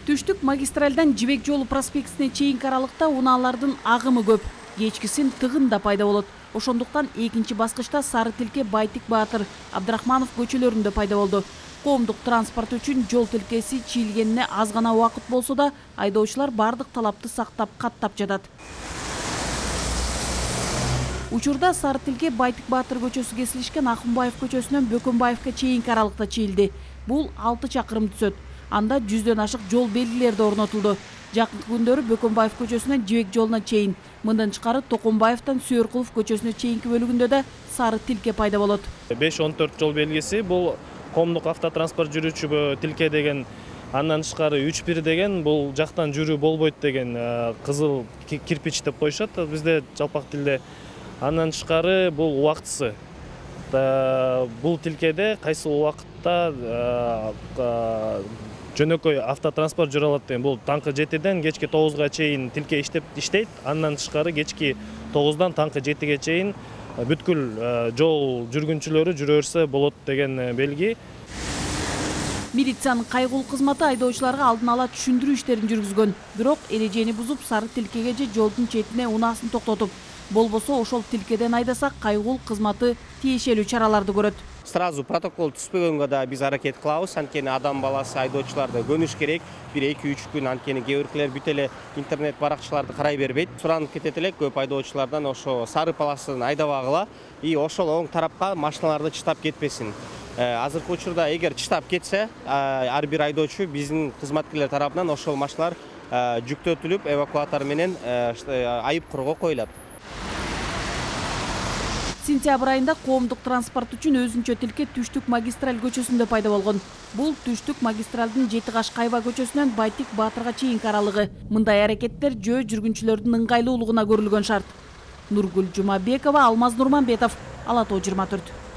Түштүк магистралдан Жибек жолу проспектисине чейинки аралыкта унаалардын агымы көп. Кечкисин тыгын да пайда болот. Ошондуктан экинчи баскычта Сары Тилке, Байтик Баатыр, Абдрахманов көчөлөрүндө пайда болду. Коомдук транспорт үчүн жол тилкеси чийилгенине аз гана убакыт болсо да, айдоочулар бардык талапты сактап, каттап жатат. Учурда Сары Тилке, Байтик Баатыр көчөсү кесилишкен Акунбаев көчөсүнөн Бөкөнбаевке чейинки аралыкта чийилди. Бул 6 чакырым түзөт. Анда 100дөн ашык жол белгилери орнотулду. Жакынкы күндөрү Бөкөнбаев көчөсүнөн Жибек жолуна чейин, мындан тышкары Токонбаевден Сүйөркулов көчөсүнө чейинки бөлүгүндө да Сары Тилке пайда болот. 5-14 жол белгиси бул коомдук автотранспорт жүрүүчүгө тилке деген, андан тышкары 3-1 деген, бул жактан жүрүү болбойт деген кызыл кирпич деп коюшат бизде жалпак тилде. Андан тышкары бул убактысы. Бул тилкеде кайсы убакытта жөнөкөй автотранспорт жүрө алат деген. Бул таңкы 7ден кечки 9га чейин тилке иштейт. Андан тышкары кечки 9дан таңкы 7ге чейин бүткүл жол жүргүнчүлөрү жүрө берсе болот деген белги. Милициянын кайгылуу кызматы айдоочуларга алдын ала түшүндүрүү иштерин жүргүзгөн. Бирок эрежени бузуп Сары Тилкеге же жолдун четине унаасын токтотуп, болбосо ошол тилкеден айдаса кайгылуу кызматы тиешелүү чараларды көрөт. Сразу протокол түспөгөнгө да биз аракет кылабыз. Анткени адам баласы айдоочуларды көнүш керек. 1-2-3 күн анткени кээ биркилер бүт эле интернет баракчаларды карай бербейт. Суранып кетет элек көп айдоочулардан ошо сары полосын айдабагыла и ошол оң тарапка машиналарды чыштап кетпесин. Азыркы учурда эгер чыштап кетсе, ар бир айдоочу биздин кызматкерлер тарабынан ошол машиналар жүктөтүлүп, эвакуатор менен айып корго коюлат. Сентябрь айында коомдук транспорт үчүн өзүнчө тилке Түштүк магистраль көчөсүндө пайда болгон. Бул Түштүк магистралдын Жети Каш Кайба көчөсүнөн Байтик Баатырга чейинки аралыгы. Мындай аракеттер жөө жүргүнчүлөрдүн ыңгайлуулугуна көрүлгөн шарт. Нургүл Жумабекова, Алмаз Нурманбетов, Ала Тоо 24.